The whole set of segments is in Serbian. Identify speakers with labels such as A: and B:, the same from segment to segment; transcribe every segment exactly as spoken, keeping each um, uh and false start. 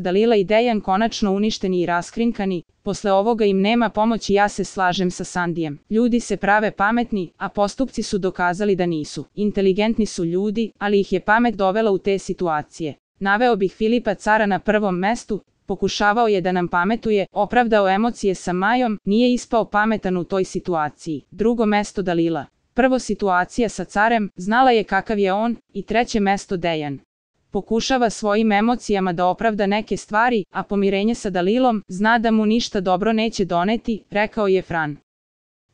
A: Dalila i Dejan konačno uništeni i raskrinkani, posle ovoga im nema pomoći. Ja se slažem sa Sandijem. Ljudi se prave pametni, a postupci su dokazali da nisu. Inteligentni su ljudi, ali ih je pamet dovela u te situacije. Naveo bih Filipa Cara na prvom mestu, pokušavao je da nam pametuje, opravdao emocije sa Majom, nije ispao pametan u toj situaciji. Drugo mesto Dalila. Prvo situacija sa Carem, znala je kakav je on, i treće mesto Dejan. Pokušava svojim emocijama da opravda neke stvari, a pomirenje sa Dalilom zna da mu ništa dobro neće doneti, rekao je Fran.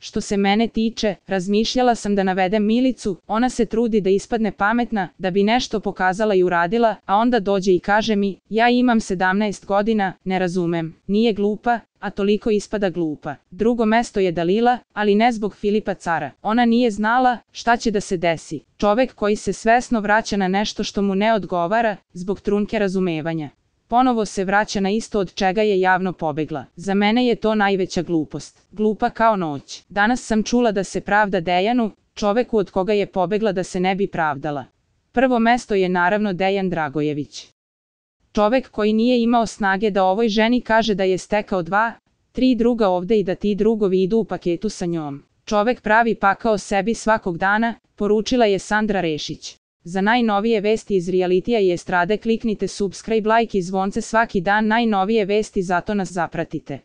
A: Što se mene tiče, razmišljala sam da navedem Milicu, ona se trudi da ispadne pametna, da bi nešto pokazala i uradila, a onda dođe i kaže mi, ja imam sedamnaest godina, ne razumem, nije glupa, a toliko ispada glupa. Drugo mesto je Dalila, ali ne zbog Filipa Cara. Ona nije znala šta će da se desi. Čovek koji se svesno vraća na nešto što mu ne odgovara, zbog trunke razumevanja. Ponovo se vraća na isto od čega je javno pobegla. Za mene je to najveća glupost. Glupa kao noć. Danas sam čula da se pravda Dejanu, čoveku od koga je pobegla da se ne bi pravdala. Prvo mesto je naravno Dejan Dragojević. Čovek koji nije imao snage da ovoj ženi kaže da je stekao dva, tri druga ovde i da ti drugovi idu u paketu sa njom. Čovek pravi pakao sebi svakog dana, poručila je Sandra Rešić. Za najnovije vesti iz realitija i estrade kliknite subscribe, like i zvonce svaki dan. Najnovije vesti, zato nas zapratite.